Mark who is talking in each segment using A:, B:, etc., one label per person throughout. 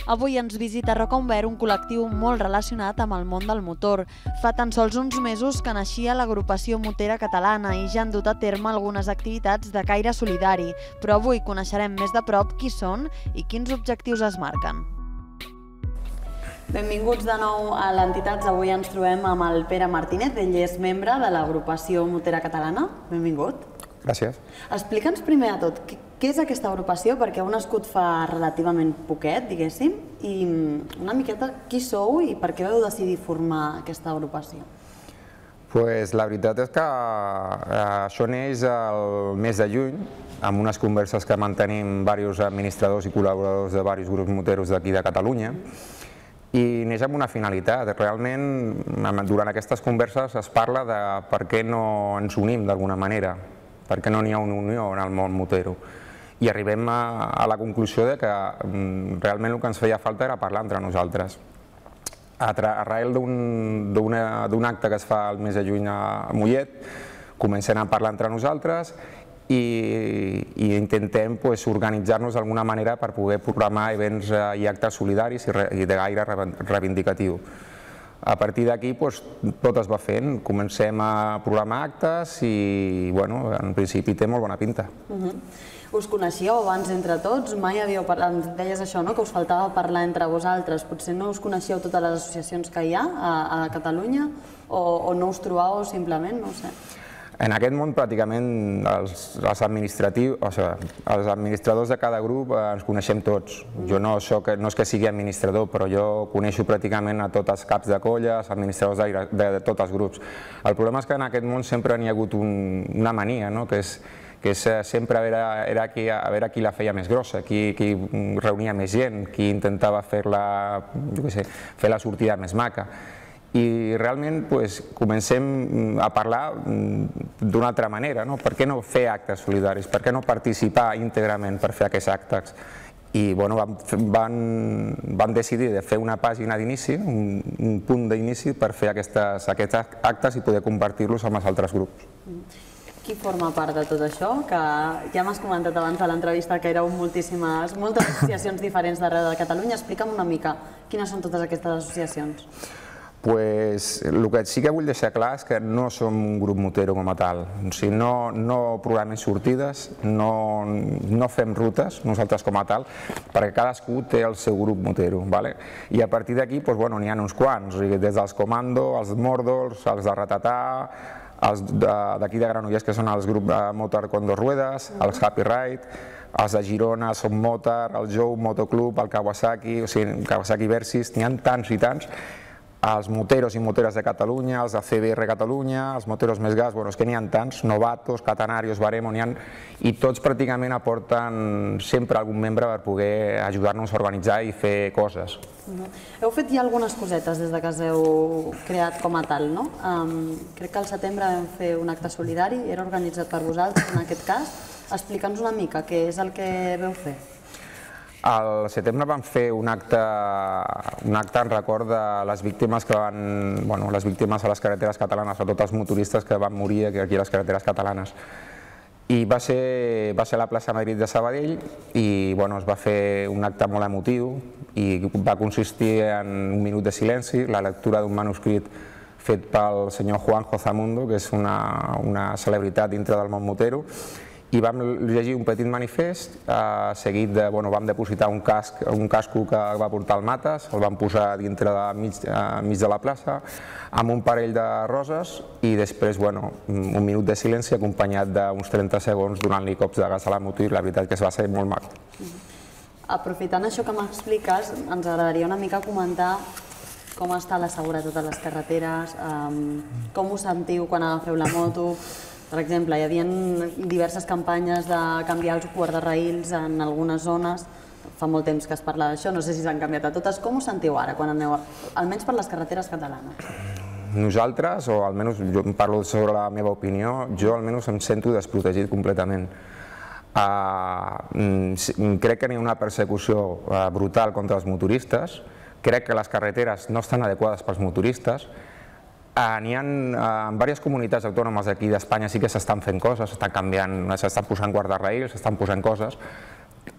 A: Avui ens visita a Roca Umbert, un col·lectiu molt relacionat amb el món del motor. Fa tan sols uns mesos que naixia l'agrupació motera catalana i ja han dut a terme algunes activitats de caire solidari, però avui coneixerem més de prop qui són i quins objectius es marquen. Benvinguts de nou a l'Entitats. Avui ens trobem amb el Pere Martínez, ell és membre de l'agrupació motera catalana. Benvingut.
B: Gràcies.
A: Explica'ns primer de tot, què és aquesta agrupació? Perquè heu nascut fa relativament poquet, diguéssim, i una miqueta qui sou i per què vau decidir formar aquesta agrupació?
B: La veritat és que això neix el mes de juny, amb unes converses que mantenim diversos administradors i col·laboradors de diversos grups moteros d'aquí de Catalunya, i neix amb una finalitat. Realment, durant aquestes converses es parla de per què no ens unim d'alguna manera, per què no n'hi ha una unió en el món motero. I arribem a la conclusió de que realment el que ens feia falta era parlar entre nosaltres. Arrel d'un acte que es fa el mes de juny a Mollet, comencem a parlar entre nosaltres i intentem organitzar-nos d'alguna manera per poder programar events i actes solidaris i de gaire reivindicatiu. A partir d'aquí tot es va fent, comencem a programar actes i en principi té molt bona pinta.
A: Us coneixíeu abans entre tots? Mai havíeu parlat, ens deies això, que us faltava parlar entre vosaltres. Potser no us coneixíeu totes les associacions que hi ha a Catalunya o no us trobàveu simplement, no ho sé.
B: En aquest món pràcticament els administradors de cada grup ens coneixem tots. Jo no és que sigui administrador, però jo coneixo pràcticament a tots els caps de colla, els administradors de tots els grups. El problema és que en aquest món sempre n'hi ha hagut una mania, que és sempre a veure qui la feia més grossa, qui reunia més gent, qui intentava fer la sortida més maca. I realment comencem a parlar d'una altra manera. Per què no fer actes solidaris? Per què no participar íntegrament per fer aquests actes? I van decidir de fer una pàgina d'inici, un punt d'inici per fer aquests actes i poder compartir-los amb els altres grups.
A: Qui forma part de tot això? Que ja m'has comentat abans de l'entrevista que éreu moltes associacions diferents d'arreu de Catalunya. Explica'm una mica quines són totes aquestes associacions.
B: El que sí que vull deixar clar és que no som un grup motero com a tal. No programem sortides, no fem rutes nosaltres com a tal, perquè cadascú té el seu grup motero. I a partir d'aquí n'hi ha uns quants, des dels Comando, els Mordors, els de Ratatà, els d'aquí de Granollers que són els grups de Motor con dos ruedas, els Happy Ride, els de Girona, Som Motor, el Jou Motoclub, el Kawasaki Versys, n'hi ha tants i tants. Els moteros i moteres de Catalunya, els de CBR Catalunya, els moteros més gas, és que n'hi ha tants, Novatos, Catenarios, Baremo, i tots pràcticament aporten sempre algun membre per poder ajudar-nos a organitzar i fer coses.
A: Heu fet ja algunes cosetes des que us heu creat com a tal, no? Crec que al setembre vam fer un acte solidari, era organitzat per vosaltres en aquest cas. Explica'ns una mica què és el que veu fer.
B: Al setembre vam fer un acte en record de les víctimes a les carreteres catalanes, a tots els motoristes que van morir aquí a les carreteres catalanes. I va ser a la plaça Madrid de Sabadell i es va fer un acte molt emotiu i va consistir en un minut de silenci, la lectura d'un manuscrit fet pel senyor Juanjo Zamundo, que és una celebritat dintre del món motero, i vam llegir un petit manifest, seguit vam depositar un casco que va portar el Mates, el vam posar mig de la plaça, amb un parell de roses i després un minut de silenci acompanyat d'uns 30 segons donant-li cops de gas a la moto i la veritat que va ser molt maco.
A: Aprofitant això que m'expliques, ens agradaria una mica comentar com està la seguretat a les carreteres, com us sentiu quan agafeu la moto. Per exemple, hi havia diverses campanyes de canviar els guardarraïls en algunes zones. Fa molt temps que es parla d'això, no sé si s'han canviat a totes. Com us sentiu ara, quan aneu, almenys per les carreteres catalanes?
B: Nosaltres, o almenys jo parlo sobre la meva opinió, jo almenys em sento desprotegit completament. Crec que hi ha una persecució brutal contra els motoristes, crec que les carreteres no estan adequades pels motoristes. En diverses comunitats autònomes d'aquí d'Espanya sí que s'estan fent coses, s'estan canviant, s'estan posant guardarraïls, s'estan posant coses,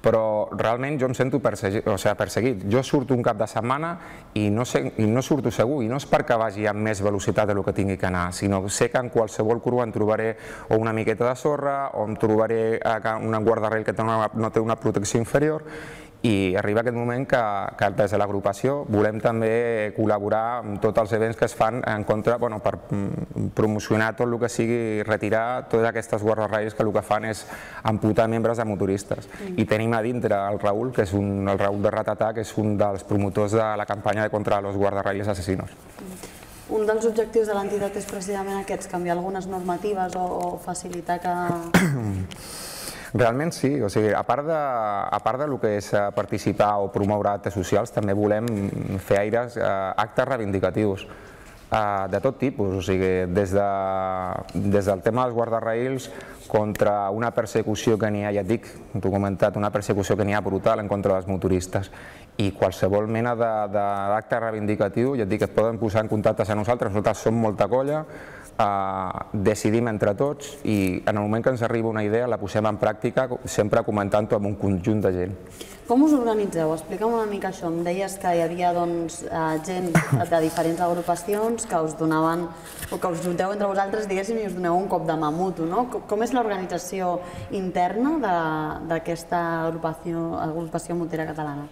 B: però realment jo em sento perseguit. Jo surto un cap de setmana i no surto segur, i no és perquè vagi amb més velocitat del que tingui que anar, sinó que sé que en qualsevol curva em trobaré o una miqueta de sorra o em trobaré un guardarrail que no té una protecció inferior, i arriba aquest moment que des de l'agrupació volem també col·laborar amb tots els events que es fan en contra, per promocionar tot el que sigui, retirar totes aquestes guardarrails que el que fan és amputar membres de motoristes. I tenim a dintre el Raül, que és el Raül de Ratatà, que és un dels promotors de la campanya contra els guardarrails assassinos.
A: Un dels objectius de l'entitat és precisament aquests, canviar algunes normatives o facilitar que...
B: Realment sí, a part del que és participar o promoure actes socials, també volem fer actes reivindicatius de tot tipus, des del tema dels guardarrails contra una persecució que n'hi ha, ja et dic, t'ho he comentat, una persecució que n'hi ha brutal en contra dels motoristes, i qualsevol mena d'acte reivindicatiu, ja et dic, et poden posar en contacte amb nosaltres som molta colla, decidim entre tots i en el moment que ens arriba una idea la posem en pràctica, sempre comentant-ho amb un conjunt de gent.
A: Com us organitzeu? Explica'm una mica això. Em deies que hi havia gent de diferents agrupacions que us donaven, o que us junteu entre vosaltres, diguéssim, i us doneu un cop de mà mutu, no? Com és l'organització interna d'aquesta agrupació motera catalana?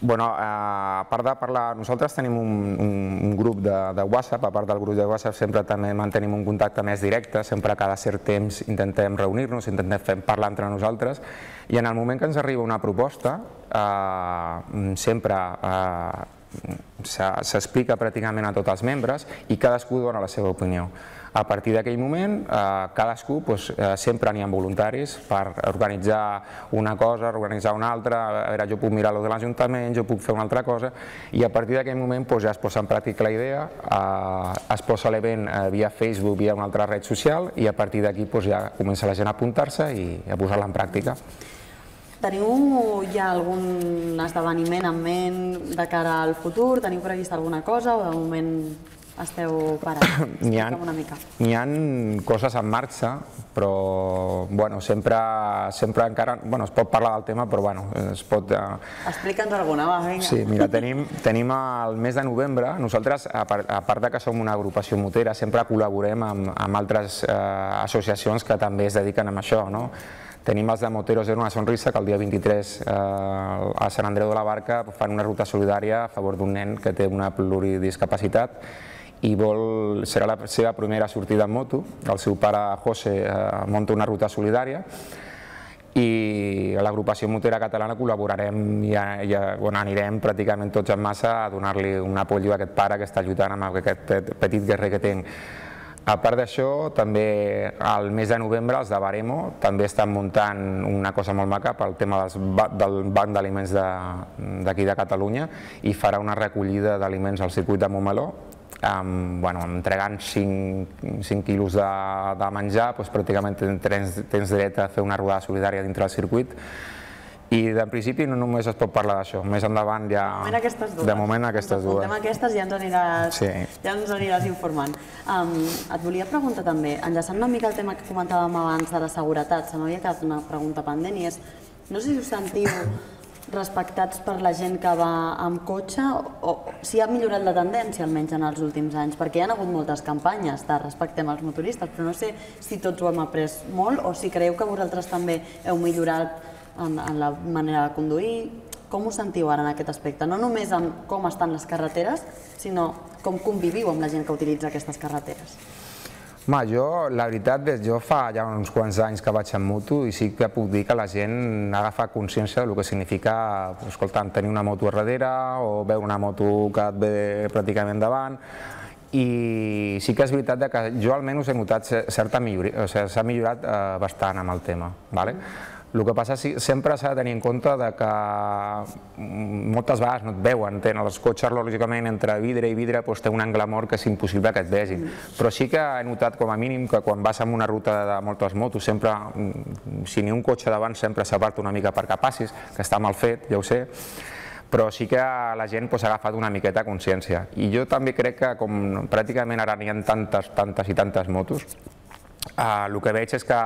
B: A part de parlar, nosaltres tenim un grup de WhatsApp, a part del grup de WhatsApp sempre també mantenim un contacte més directe, sempre cada cert temps intentem reunir-nos, intentem parlar entre nosaltres, i en el moment que ens arriba una proposta sempre s'explica pràcticament a tots els membres i cadascú dona la seva opinió. A partir d'aquell moment, cadascú sempre n'hi ha voluntaris per organitzar una cosa, organitzar una altra, a veure, jo puc mirar lo de l'Ajuntament, jo puc fer una altra cosa, i a partir d'aquell moment ja es posa en pràctica la idea, es posa l'event via Facebook, via una altra red social, i a partir d'aquí ja comença la gent a apuntar-se i a posar-la en pràctica.
A: Teniu ja algun esdeveniment en ment de cara al futur? Teniu previst alguna cosa o de moment esteu parats? Explica'm una mica.
B: N'hi ha coses en marxa, però sempre encara es pot parlar del tema, però es pot...
A: Explica'ns alguna, va, vinga.
B: Sí, mira, tenim el mes de novembre, nosaltres, a part que som una agrupació motera, sempre col·laborem amb altres associacions que també es dediquen a això, no? Tenim els de Moteros en una sonrisa, que el dia 23 a Sant Andreu de la Barca fan una ruta solidària a favor d'un nen que té una pluridiscapacitat i serà la seva primera sortida en moto. El seu pare, José, munta una ruta solidària i a l'agrupació motera catalana col·laborarem i anirem pràcticament tots en massa a donar-li un apoyo a aquest pare que està lluitant amb aquest petit guerrer que té. A part d'això, també al mes de novembre els de Baremo també estan muntant una cosa molt maca pel tema del banc d'aliments d'aquí de Catalunya i farà una recollida d'aliments al circuit de Montmeló, entregant 5 quilos de menjar, pràcticament tens dret a fer una rodada solidària dintre del circuit. I de principi no només es pot parlar d'això, més endavant ja...
A: De moment aquestes dues. Apuntem aquestes i ja ens aniràs informant. Et volia preguntar també, enllaçant una mica el tema que comentàvem abans de la seguretat, se m'havia quedat una pregunta pendent i és, no sé si us sentiu respectats per la gent que va amb cotxe o si ha millorat la tendència almenys en els últims anys, perquè hi ha hagut moltes campanyes de respectem als motoristes, però no sé si tots ho hem après molt o si creieu que vosaltres també heu millorat en la manera de conduir. Com us sentiu ara en aquest aspecte? No només amb com estan les carreteres, sinó com conviviu amb la gent que utilitza aquestes carreteres.
B: La veritat, jo fa ja uns quants anys que vaig en moto i sí que puc dir que la gent ha agafat consciència del que significa tenir una moto a darrere o veure una moto que et ve pràcticament davant. I sí que és veritat que jo almenys he notat certa milloria, s'ha millorat bastant amb el tema. El que passa és que sempre s'ha de tenir en compte que moltes vegades no et veuen, els cotxes lògicament entre vidre i vidre té un angle mort que és impossible que et vegin, però sí que he notat com a mínim que quan vas en una ruta de moltes motos, sempre, si n'hi ha un cotxe davant sempre s'aparta una mica perquè passis, que està mal fet, ja ho sé, però sí que la gent ha agafat una miqueta consciència. I jo també crec que com pràcticament ara n'hi ha tantes i tantes motos, el que veig és que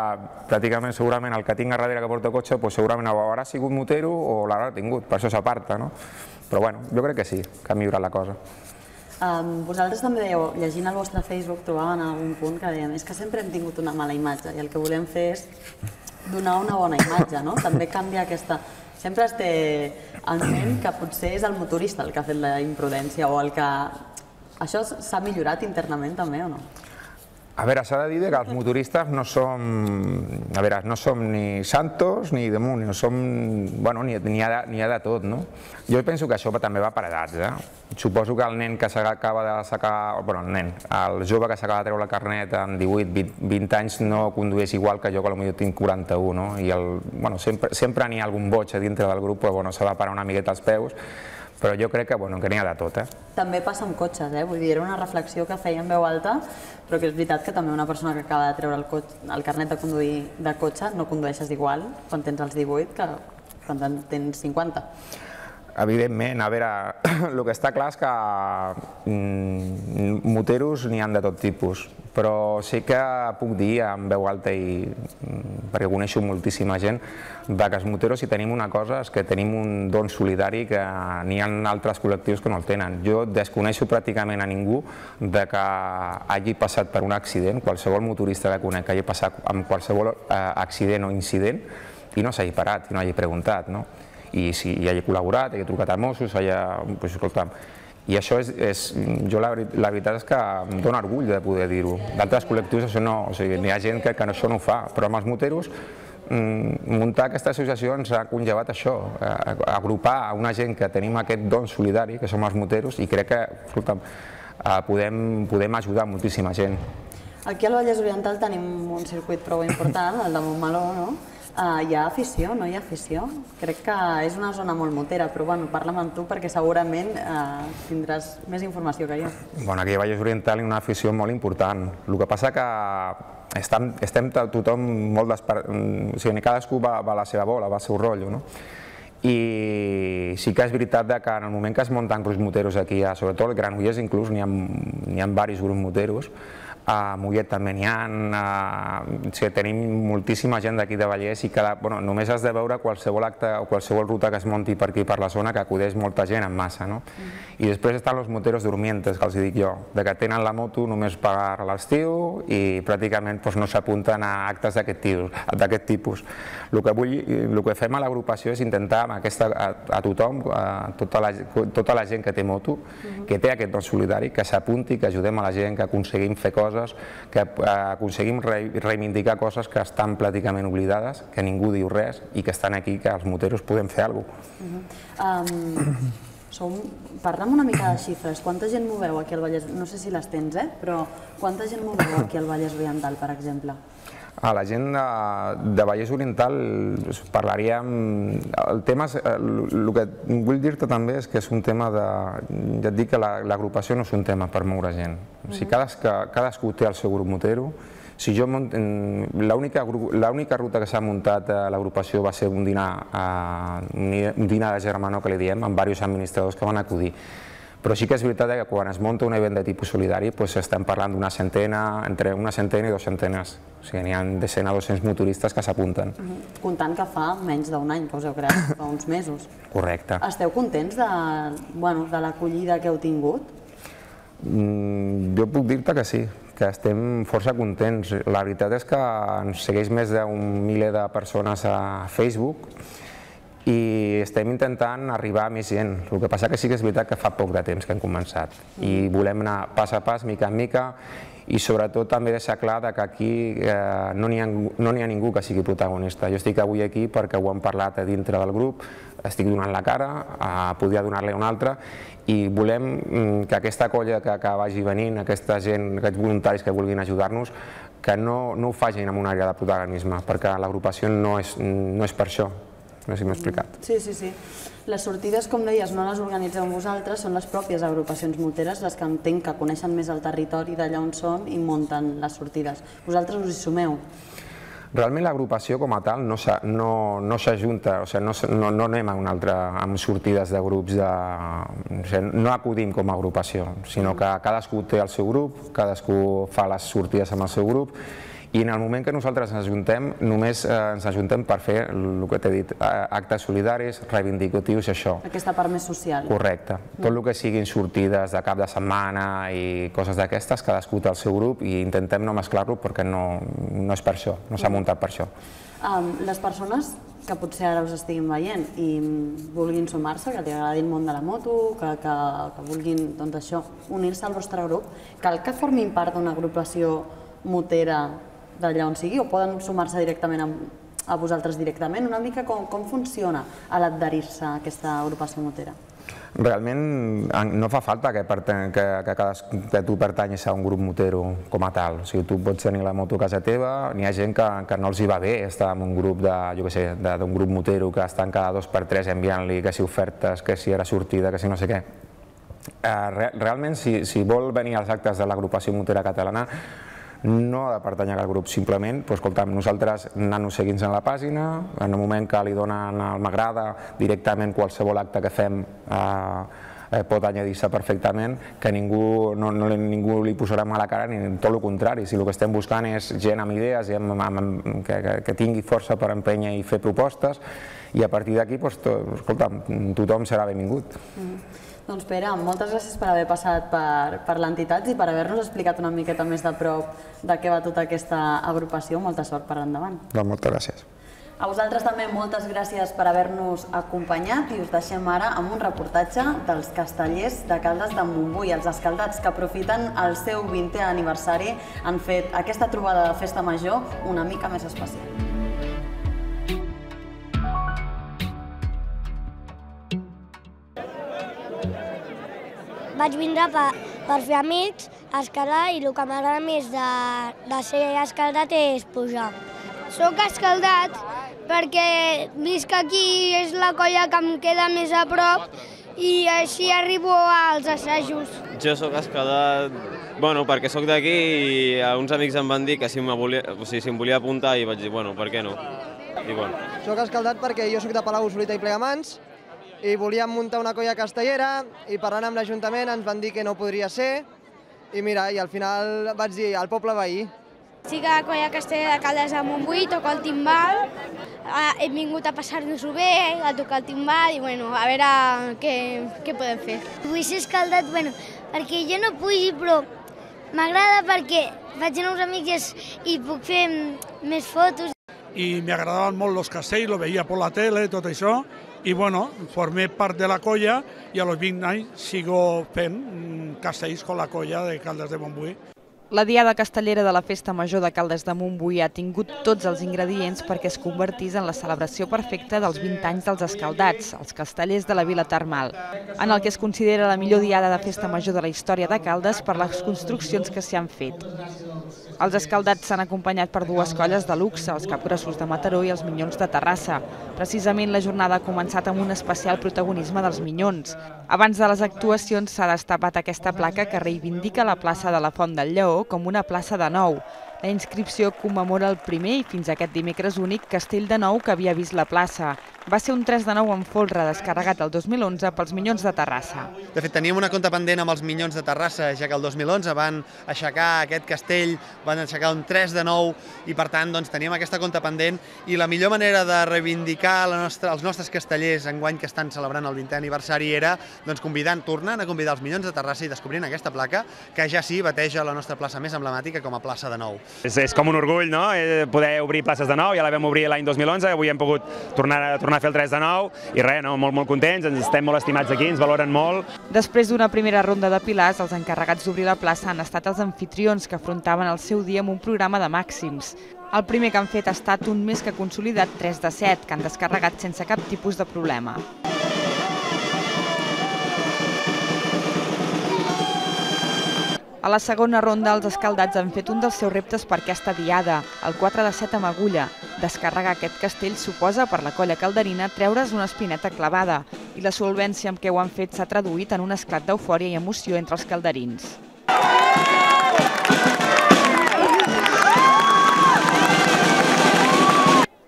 B: pràcticament segurament el que tinc a darrere que porta cotxe segurament o haurà sigut motero o l'haurà tingut, per això s'aparta, no? Però bueno, jo crec que sí, que ha millorat la cosa.
A: Vosaltres també dèieu, llegint el vostre Facebook, trobaven en algun punt que dèiem és que sempre hem tingut una mala imatge i el que volem fer és donar una bona imatge, no? També canvia aquesta... Sempre es té en ment que potser és el motorista el que ha fet la imprudència o el que... Això s'ha millorat internament també o no?
B: A veure, s'ha de dir que els motoristes no som... A veure, no som ni santos ni demonios, som... Bueno, n'hi ha de tot, no? Jo penso que això també va per edats, eh? Suposo que el nen que s'acaba de sacar... Bueno, el jove que s'acaba de treure el carnet amb 18, 20 anys no condueix igual que jo, que potser tinc 41, no? I sempre n'hi ha algun boig a dintre del grup, però s'ha de parar una miqueta als peus. Però jo crec que n'hi ha de tot, eh?
A: També passa amb cotxes, eh? Vull dir, era una reflexió que feia en veu alta, però que és veritat que també una persona que acaba de treure el carnet de conduir de cotxe no condueixes igual quan tens els 18 que quan tens 50.
B: Evidentment, a veure, el que està clar és que moteros n'hi ha de tot tipus, però sí que puc dir en veu alta, perquè coneixo moltíssima gent, que els moteros, si tenim una cosa, és que tenim un don solidari que n'hi ha altres col·lectius que no el tenen. Jo desconeixo pràcticament a ningú que hagi passat per un accident, qualsevol motorista que conec que hagi passat amb qualsevol accident o incident i no s'hagi parat, i no hagi preguntat, no? I si hagi col·laborat, hagi trucat a Mossos, escolta'm, i això jo la veritat és que em dóna orgull de poder dir-ho. D'altres col·lectius això no, o sigui, n'hi ha gent que això no ho fa, però amb els moteros muntar aquesta associació ens ha conllevat això, agrupar una gent que tenim aquest don solidari, que som els moteros, i crec que, escolta'm, podem ajudar moltíssima gent.
A: Aquí al Vallès Oriental tenim un circuit prou important, el de Montmeló, no? Hi ha afició, no hi ha afició? Crec que és una zona molt motera, però bueno, parla'm amb tu perquè segurament tindràs més informació que jo.
B: Bueno, aquí a Vallès Oriental hi ha una afició molt important. El que passa que estem tothom molt desparat, o sigui, cadascú va a la seva bola, va al seu rotllo, no? I sí que és veritat que en el moment que es munten grups moteros aquí, sobretot al Granollers inclús, n'hi ha diversos grups moteros, a Mollet també n'hi ha, tenim moltíssima gent d'aquí de Vallès i només has de veure qualsevol acte o qualsevol ruta que es munti per aquí per la zona que acudeix molta gent en massa, no? I després estan els moteros dormientes, que els dic jo, que tenen la moto només per l'estiu i pràcticament no s'apunten a actes d'aquest tipus. El que fem a l'agrupació és intentar a tothom, a tota la gent que té moto, que té aquest don solidari, que s'apunti, que ajudem a la gent, que aconseguim fer coses, que aconseguim reivindicar coses que estan pràcticament oblidades, que ningú diu res i que estan aquí, que els moteros podem fer alguna cosa.
A: Parlem una mica de xifres. Quanta gent moveu aquí al Vallès? No sé si les tens, però quanta gent moveu aquí al Vallès Oriental, per exemple?
B: A la gent de Vallès Oriental parlaríem... El tema, el que vull dir-te també és que és un tema de... Ja et dic que l'agrupació no és un tema per moure gent. O sigui, cadascú té el seu grup motero. L'única ruta que s'ha muntat a l'agrupació va ser un dinar de germanor, que li diem, amb diversos administradors que van acudir. Però sí que és veritat que quan es munta un event de tipus solidari estem parlant d'una centena, entre una centena i 2 centenes. O sigui, n'hi ha de 100 a 200 motoristes que s'apunten.
A: Comptant que fa menys d'un any que us heu creat, fa uns mesos.
B: Correcte.
A: Esteu contents de l'acollida que heu tingut?
B: Jo puc dir-te que sí, que estem força contents. La veritat és que ens segueix més d'un miler de persones a Facebook i estem intentant arribar a més gent. El que passa que sí que és veritat que fa poc de temps que hem començat i volem anar pas a pas, mica en mica, i sobretot també deixar clar que aquí no n'hi ha ningú que sigui protagonista. Jo estic avui aquí perquè ho hem parlat a dintre del grup, estic donant la cara, podria donar-li una altra, i volem que aquesta colla que vagi venint, aquesta gent, aquests voluntaris que vulguin ajudar-nos, que no ho facin amb una àrea de protagonisme, perquè l'agrupació no és per això. No sé si m'he explicat.
A: Sí. Les sortides, com deies, no les organitzeu vosaltres, són les pròpies agrupacions moteres les que entenc que coneixen més el territori d'allà on són i munten les sortides. Vosaltres us hi sumeu?
B: Realment l'agrupació com a tal no s'ajunta, no anem amb sortides de grups, no acudim com a agrupació, sinó que cadascú té el seu grup, cadascú fa les sortides amb el seu grup I en el moment que nosaltres ens ajuntem, només ens ajuntem per fer el que t'he dit, actes solidaris, reivindicatius i això.
A: Aquesta part més social.
B: Correcte. Tot el que siguin sortides de cap de setmana i coses d'aquestes, cadascú té el seu grup i intentem no mesclar-lo perquè no és per això, no s'ha muntat per això.
A: Les persones que potser ara us estiguin veient i vulguin sumar-se, que li agradi el món de la moto, que vulguin unir-se al vostre grup, cal que formin part d'una agrupació motera d'allà on sigui o poden sumar-se directament a vosaltres directament? Una mica com funciona a l'adherir-se a aquesta agrupació motera?
B: Realment no fa falta que tu pertanyis a un grup motero com a tal. O sigui, tu pots tenir la moto a casa teva, n'hi ha gent que no els hi va bé estar en un grup d'un grup motero que estan cada 2 per 3 enviant-li que si ofertes, que si era sortida, que si no sé què. Realment, si vol venir als actes de l'agrupació motera catalana, no ha de pertànyer al grup, simplement, escolta'm, nosaltres anant-nos seguint en la pàgina, en el moment que li donen el m'agrada, directament qualsevol acte que fem pot añadir-se perfectament, que ningú li posarà mala cara, ni tot el contrari. Si el que estem buscant és gent amb idees, que tingui força per empènyer i fer propostes, i a partir d'aquí, escolta'm, tothom serà benvingut.
A: Doncs Pere, moltes gràcies per haver passat per l'entitat i per haver-nos explicat una miqueta més de prop de què va tota aquesta agrupació. Molta sort per endavant.
B: Moltes gràcies.
A: A vosaltres també moltes gràcies per haver-nos acompanyat i us deixem ara amb un reportatge dels castellers de Caldes de Montbui. Els escaldats que aprofiten el seu 20è aniversari han fet aquesta trobada de festa major una mica més especial.
C: Vaig vindre per fer amics, escalar, i el que m'agrada més de ser escaldat és pujar. Soc escaldat perquè visc aquí, és la colla que em queda més a prop i així arribo als assajos.
D: Jo soc escaldat perquè soc d'aquí i uns amics em van dir que si em volia apuntar i vaig dir, per què no?
E: Soc escaldat perquè jo soc de Palau-solità i Plegamans i volíem muntar una colla castellera i parlant amb l'Ajuntament ens van dir que no podria ser i mira, i al final vaig dir al poble veí.
C: Estic a la colla castellera de Caldes de Montbui, toco el timbal, hem vingut a passar-nos-ho bé, a tocar el timbal i a veure què podem fer. Vull ser escaldat perquè jo no pugi, però m'agrada perquè vaig anar uns amics i puc fer més fotos.
F: I m'agradaven molt els castells, lo veia per la tele, tot això, i formé part de la colla i a los 20 anys sigo fent castells amb la colla de Caldes de Montbui.
G: La diada castellera de la Festa Major de Caldes de Montbui ha tingut tots els ingredients perquè es convertís en la celebració perfecta dels 20 anys dels escaldats, els castellers de la Vila Termal, en el que es considera la millor diada de Festa Major de la història de Caldes per les construccions que s'hi han fet. Els escaldats s'han acompanyat per 2 colles de luxe, els Capgrossos de Mataró i els Minyons de Terrassa. Precisament la jornada ha començat amb un especial protagonisme dels Minyons. Abans de les actuacions s'ha destapat aquesta placa que reivindica la plaça de la Font del Lleó com una plaça de nou. La inscripció commemora el primer i fins aquest dimecres únic castell de nou que havia vist la plaça. Va ser un 3 de 9 en folre descarregat el 2011 pels Minyons de Terrassa.
H: De fet, teníem una compta pendent amb els Minyons de Terrassa, ja que el 2011 van aixecar aquest castell, van aixecar un 3 de 9 i per tant teníem aquesta compta pendent i la millor manera de reivindicar els nostres castellers enguany que estan celebrant el 20è aniversari era tornant a convidar els Minyons de Terrassa i descobrint aquesta placa que ja sí bateja la nostra plaça més emblemàtica com a plaça de nou.
I: És com un orgull, no?, poder obrir places de nou, ja la vam obrir l'any 2011, avui hem pogut tornar a fer el 3 de 9 i res, molt contents, ens estem molt estimats aquí, ens valoren molt.
G: Després d'una primera ronda de pilars, els encarregats d'obrir la plaça han estat els anfitrions que afrontaven el seu dia amb un programa de màxims. El primer que han fet ha estat un més que consolidat 3 de 7, que han descarregat sense cap tipus de problema. A la segona ronda, els escaldats han fet un dels seus reptes per aquesta diada, el 4 de 7 amb agulla. Descarregar aquest castell suposa, per la colla calderina, treure's una espineta clavada, i la solvència amb què ho han fet s'ha traduït en un esclat d'eufòria i emoció entre els calderins.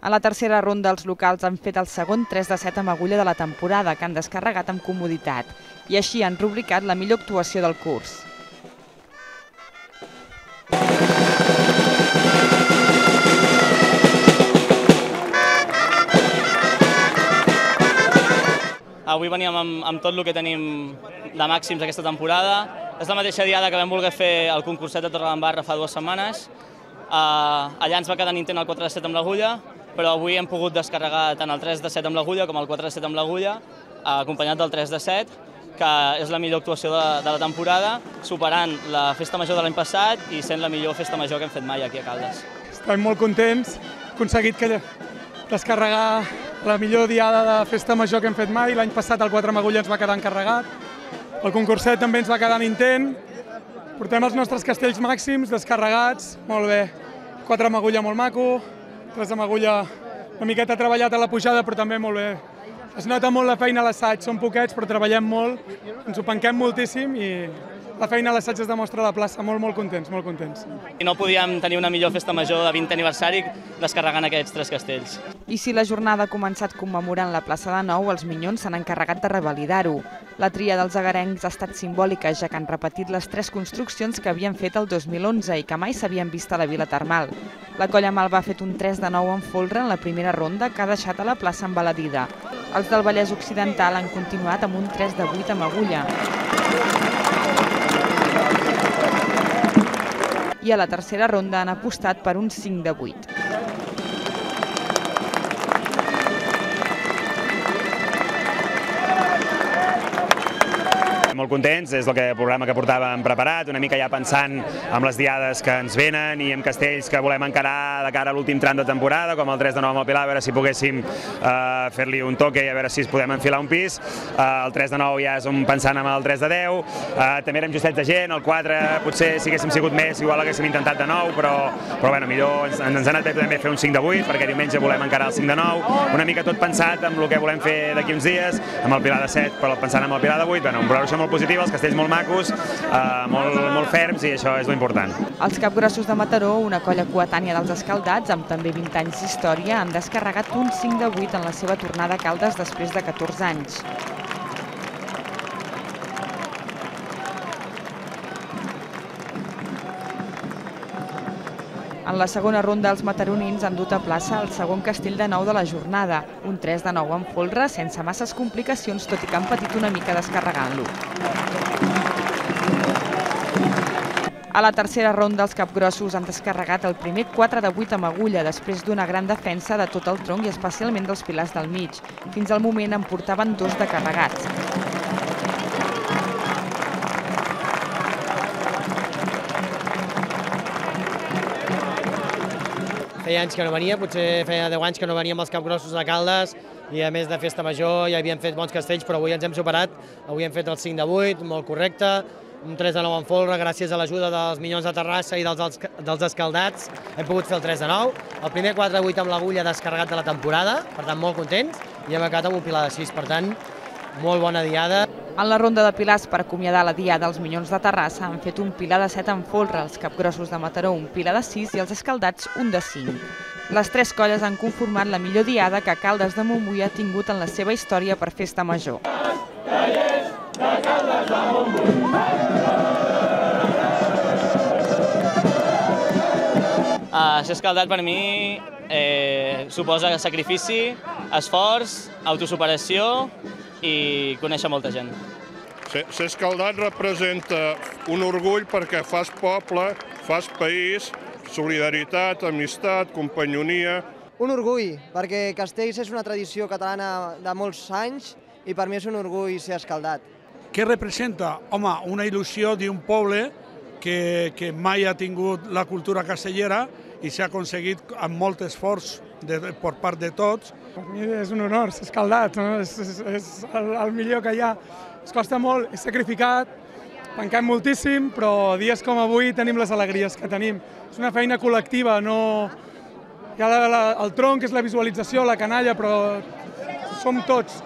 G: A la tercera ronda, els locals han fet el segon 3 de 7 amb agulla de la temporada, que han descarregat amb comoditat, i així han rubricat la millor actuació del curs.
J: Avui veníem amb tot el que tenim de màxims aquesta temporada. És la mateixa diada que vam voler fer el concurset de Torredembarra fa 2 setmanes. Allà ens va quedar intent el 4 de 7 amb l'agulla, però avui hem pogut descarregar tant el 3 de 7 amb l'agulla com el 4 de 7 amb l'agulla, acompanyat del 3 de 7, que és la millor actuació de la temporada, superant la festa major de l'any passat i sent la millor festa major que hem fet mai aquí a Caldes.
K: Estem molt contents, hem aconseguit descarregar la millor diada de festa major que hem fet mai. L'any passat el 4 amb agulla ens va quedar encarregat, el concurset també ens va quedar en intent. Portem els nostres castells màxims descarregats, molt bé. 4 amb agulla molt maco, 3 amb agulla una miqueta treballat a la pujada, però també molt bé. Es nota molt la feina a l'assaig, són poquets però treballem molt, ens ho penquem moltíssim i la feina a l'assaig es demostra a la plaça, molt contents, molt contents.
J: I no podíem tenir una millor festa major de 20 aniversari descarregant aquests 3 castells.
G: I si la jornada ha començat commemorant la plaça de Nou, els Minyons s'han encarregat de revalidar-ho. La tria dels agarencs ha estat simbòlica, ja que han repetit les 3 construccions que havien fet el 2011 i que mai s'havien vist a la Vila Termal. La Colla Malva ha fet un 3 de 9 en folre en la primera ronda, que ha deixat a la plaça embaladida. Els del Vallès Occidental han continuat amb un 3 de 8 amb agulla. I a la tercera ronda han apostat per un 5 de 8.
I: Molt contents, és el programa que portàvem preparat, una mica ja pensant en les diades que ens venen i en castells que volem encarar de cara a l'últim tram de temporada, com el 3 de 9 amb el Pilar, a veure si poguéssim fer-li un toque i a veure si es podem enfilar un pis. El 3 de 9 ja és pensant en el 3 de 10, també érem justets de gent, el 4 potser si haguéssim sigut més, igual haguéssim intentat de 9, però bueno, millor ens ha anat bé també fer un 5 de 8, perquè diumenge volem encarar el 5 de 9, una mica tot pensat amb el que volem fer d'aquí uns dies, amb el Pilar de 7, però pensant en el Pilar de 8, bueno, un programa molt positiu, els castells molt macos, molt ferms i això és l'important.
G: Els Capgrossos de Mataró, una colla coetània dels Escaldats, amb també 20 anys d'història, han descarregat un 5 de 8 en la seva tornada a Caldes després de 14 anys. En la segona ronda, els mataronins han dut a plaça el segon castell de 9 de la jornada, un 3 de 9 en folre, sense masses complicacions, tot i que han patit una mica descarregant-lo. A la tercera ronda, els capgrossos han descarregat el primer 4 de 8 amb agulla, després d'una gran defensa de tot el tronc i especialment dels pilars del mig. Fins al moment en portaven 2 de carregats.
L: Feia anys que no venia, potser feia 10 anys que no veníem els capgrossos a Caldes i a més de festa major ja havíem fet bons castells, però avui ens hem superat. Avui hem fet el 5 de 8, molt correcte, un 3 de 9 en folre, gràcies a l'ajuda dels Minyons de Terrassa i dels Escaldats hem pogut fer el 3 de 9. El primer 4 de 8 amb l'agulla descarregat de la temporada, per tant molt contents, i hem acabat amb un pilar de 6, per tant molt bona diada.
G: En la ronda de pilars per acomiadar la diada, els Minyons de Terrassa han fet un pilar de 7 en folre, els Capgrossos de Mataró un pilar de 6 i els Escaldats un de 5. Les 3 colles han conformat la millor diada que Caldes de Montbui ha tingut en la seva història per festa major.
J: Ser escaldat per mi suposa sacrifici, esforç, autosuperació i conèixer molta gent.
M: Ser escaldat representa un orgull perquè fas poble, fas país, solidaritat, amistat, companyonia.
E: Un orgull, perquè Castells és una tradició catalana de molts anys i per mi és un orgull ser escaldat.
F: Què representa? Home, una il·lusió d'un poble que mai ha tingut la cultura castellera i s'ha aconseguit amb molt esforç per part de tots.
K: Per mi és un honor ser escaldat, no? És el millor que hi ha. Es costa molt, és sacrificat, tanquem moltíssim, però dies com avui tenim les alegries que tenim. És una feina col·lectiva, no... Hi ha el tronc, que és la visualització, la canalla, però som tots.